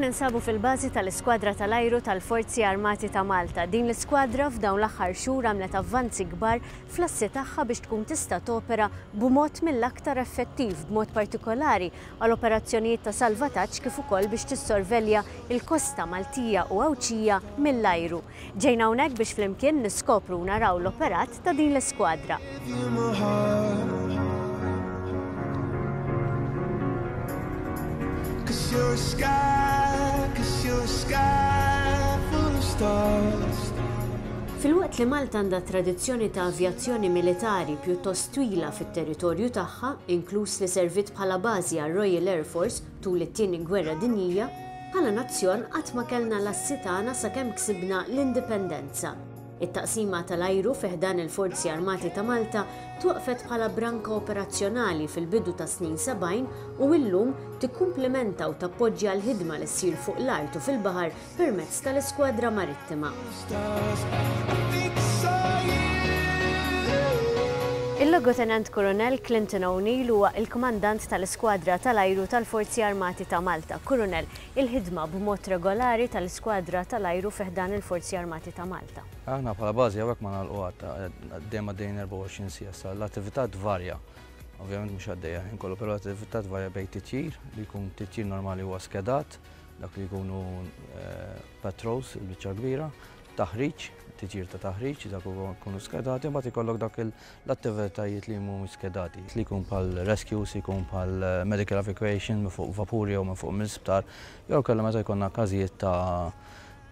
ninsabu fil-bażi tal-Iskwadra tal-Ajru tal-Forzi Armati ta' Malta. Din l-iskwadra f'dawn l-aħħar xhur għamlet avvanzi kbar fl-assi tagħha biex tkun tista' topera b'mod mill-aktar effettiv, b'mod partikolari għal operazzjonijiet ta' salvataġġ kif ukoll biex tissorvelja l-kosta Maltija u Għawdxija mill-ajru. Ġejna hawnhekk biex flimkien niskopru u naraw l-operat ta' din l-iskwadra. Filwaqt li Malta għandha tradizzjoni ta' avjazzjoni militari pjuttost twila fit-territorju tagħha, inkluż li serviet bħala bażi għar-Royal Air Force tul it-Tieni Gwerra Dinjija, Bħala nazzjon qatt ma kellna l-assi tagħna sakemm ksibna l-Indipendenza. It-Taqsima tal-Ajru fi ħdan il-Forzi Armati ta' Malta twaqqfet bħala branka operazzjonali fil-bidu tas-snin 70 u illum tikkumplimenta u tappoġġja l-ħidma li ssir fuq l-art u fil-baħar permezz tal-Iskwadra Marittima. Il-Logutenent Kurunell Clinton O'Neill huwa il-Kmandant tal-Iskwadra tal-Ajru tal-Forzi Armati ta' Malta. Kurunell, il-ħidma b'mod regolari tal-Iskwadra tal-Ajru fi ħdan il-Forzi Armati ta' Malta. Aħna bħala bażi hawnhekk ma nagħlqu qatt, dejjem għaddejjin 24 siegħa, sa l-attività tvarja. Ovvjament mhux għaddejja l-ħin kollu, però l-attività tvarja bejn titjir, li jkun titjir normali huwa skedat, dak li jkunu patrols il-biċċa kbira, taħriġ, titjir ta' taħriġ, dak jkunu skedati, mbagħad ikollok dak l-attivitajiet li mhumiex skedati, li jkun bħal rescues, jkun bħal medical evacuation minn fuq vapuri jew minn fuq mill-isptar, jew kellha meta jkollna każijiet ta'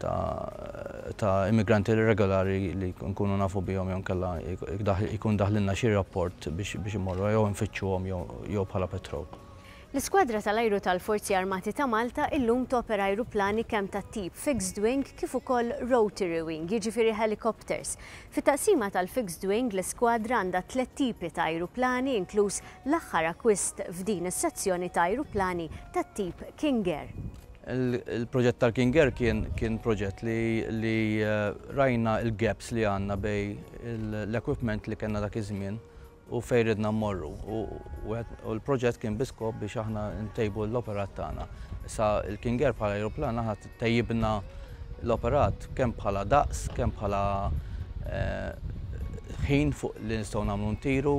ta' ta' immigranti irregolari li nkunu nafu bihom jew nkella jkun daħlilna xi rapport biex biex immorru jew nfittxuhom jew bħala patrol. L-Iskwadra tal-Ajru tal-Forzi Armati ta' Malta illum topera ajruplani kemm tat-tip fixed wing kif ukoll rotary wing, jiġifieri helicopters. Fit-taqsima tal-fixed wing l-iskwadra għandha tlett tipi ta' ajruplani inkluż l-aħħar akkwist f'din is-sezzjoni ta' ajruplani tat-tip King Air. Il-proġett tal-King Air kien kien proġett li li rajna l-gaps li għandna bejn l-equipment li kellna dak iż-żmien u fejn ridna mmorru u l-proġett kien bi skop biex aħna ntejbu l-operat tagħna. Issa il-King Air bħala ajruplan aħna tejjibna l-operat kemm bħala daqs, kemm bħala ħin fuq li nistgħu nagħmlu ntiru,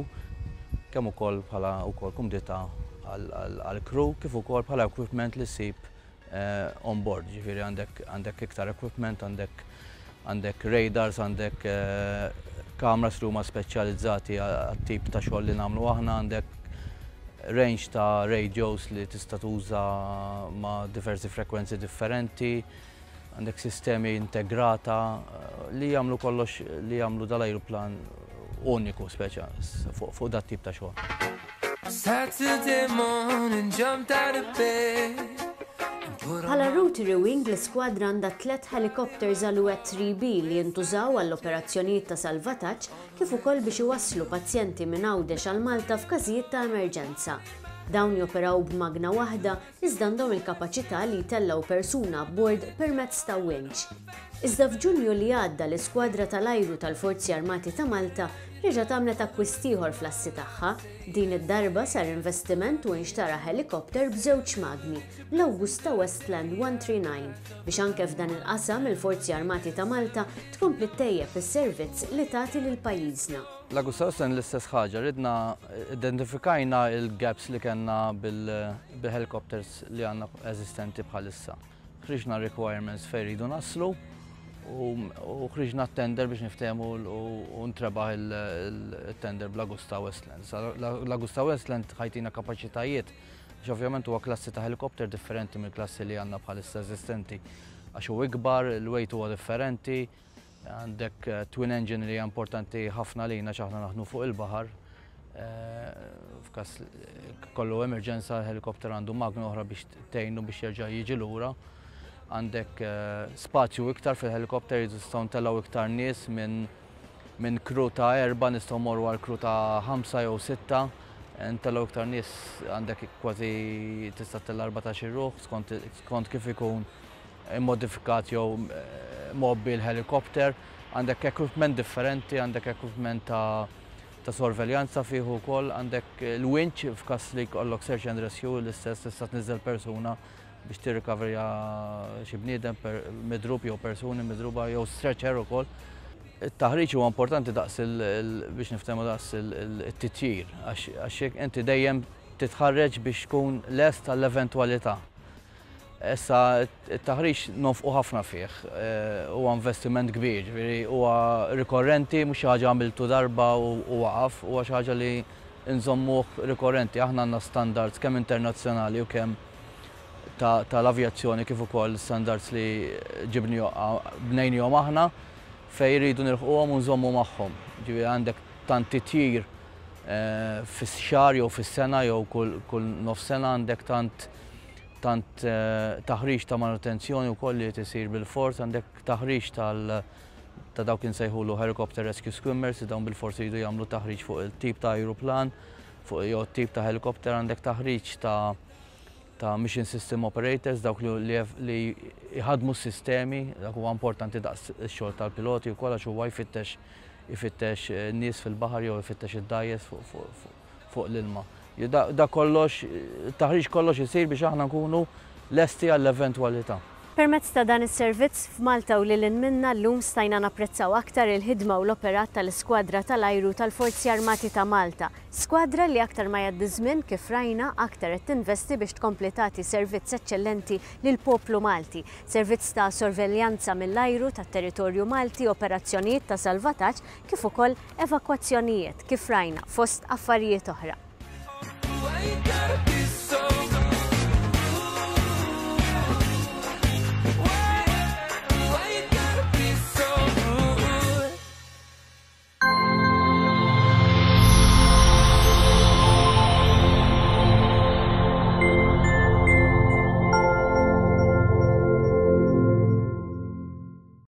kemm ukoll bħala wkoll kumdità għall-crew kif ukoll bħala equipment li ssib on board, ġifieri għandek għandek iktar equipment, għandek għandek radars, għandek cameras li huma speċjalizzati għat-tip ta' xogħol li nagħmlu aħna, għandek range ta' radios li tista' tuża ma' diversi frekwenzi differenti, għandek sistemi integrata li jagħmlu kollox li jagħmlu dal-ajruplan uniku speċa fuq dat tip ta' xogħol. Saturday morning, jumped out of bed. Bħala Rotary Wing, l-iskwadra għandha tlett ħelikopters Alouette 3B li jintużaw għall-operazzjonijiet ta' salvataġġ kif ukoll biex iwasslu pazjenti minn Għawdex għal Malta f'każijiet ta' emerġenza. Dawn joperaw b'magna waħda iżda għandhom il-kapaċità li jtellgħu persuna abbord permezz ta' winch. Iżda f'Ġunju li għadda l-Iskwadra tal-Ajru tal-Forzi Armati ta' Malta reġgħet għamlet akkwist ieħor fl-assi tagħha. Din id-darba sar investiment u inxtara ħelikopter b'żewġ magni, l-Augusta Westland 139, biex anke f'dan il-qasam il-Forzi Armati ta' Malta tkompli ttejjeb is-servizz li tagħti lil pajjiżna. L-Augusta Westland l-istess ħaġa, ridna identifikajna l-gaps li kellna bil-helicopters li għandna eżistenti bħalissa. Ħriġna requirements fejn rridu naslu u ħriġna tender biex niftehmu u ntrebaħ il-tender bl-Agusta Westland. L-Agusta Westland ħajtina kapaċitajiet għax ovvjament huwa klassi ta' helikopter differenti mill-klassi li għandna bħalissa eżistenti għax hu ikbar, il-weight huwa differenti, Għandek twin engine li hija importanti ħafna lina għax aħna naħdmu fuq il-baħar. F'każ kollu emerġenza l-helikopter għandu magna oħra biex tgħinu biex jerġa' jiġi lura. Għandek spazju iktar fil-helikopter nistgħu ntellgħu iktar nies minn minn crew ta' erba' nistgħu mmorru għal crew ta' ħamsa jew sitta. Ntellgħu iktar nies għandek kważi tista' ttella' 14-il ruħ skont skont kif ikun immodifikat jew mgħobbi l-helikopter, għandek equipment differenti, għandek equipment ta' ta' sorveljanza fih ukoll, għandek il-winch f'każ li jkollok search and rescue l-istess tista' tniżżel persuna biex tirrikaverja xi bniedem midrub jew persuni midruba jew stretcher ukoll. It-taħriġ huwa importanti daqs biex niftehmu daqs it-titjir għax inti dejjem titħarreġ biex tkun lest għall-eventwalità. Issa it-taħriġ nonfqu ħafna fih, huwa investiment kbir, ġifieri huwa rikorrenti mhux xi ħaġa għamiltu darba u waqaf, huwa xi ħaġa li nżommuh rikorrenti. Aħna għandna standards kemm internazzjonali u kemm tal-avjazzjoni kif ukoll standards li bnejnihom aħna fejn irridu nilħquhom u nżommu magħhom. Ġifieri għandek tant titjir fix-xahar jew fis-sena jew kull nofs sena għandek tant tant taħriġ ta' manutenzjoni wkoll li isir bilfors, għandek taħriġ tal ta' dawk insejħulu helicopter rescue swimmers, li dawn bilfors jridu jagħmlu taħriġ fuq il-tip ta' ajruplan, fuq jew tip ta' helikopter, għandek taħriġ ta' mission system operators, dawk li jħadmu s-sistemi, dak huwa importanti daqs ix-xogħol tal-piloti wkoll għax huwa jfittex nies fil-baħar jew jfittex id-dgħajjes fuq l-ilma. Da kollox, taħriġ kollox isir biex aħna nkunu lesti għall-eventwalità. Permezz ta' dan is-servizz f'Malta u lil hinn minna llum stajna napprezzaw aktar il-ħidma u l-operat tal-Iskwadra tal-Ajru tal-Forzi Armati ta' Malta. Skwadra li aktar ma jgħaddi żmien kif rajna aktar qed tinvesti biex tkompli tagħti servizz eċċellenti lill-poplu Malti. Servizz ta' sorveljanza mill-ajru tat-territorju Malti, operazzjonijiet ta' salvataġġ kif ukoll evakwazzjonijiet kif rajna fost affarijiet oħra.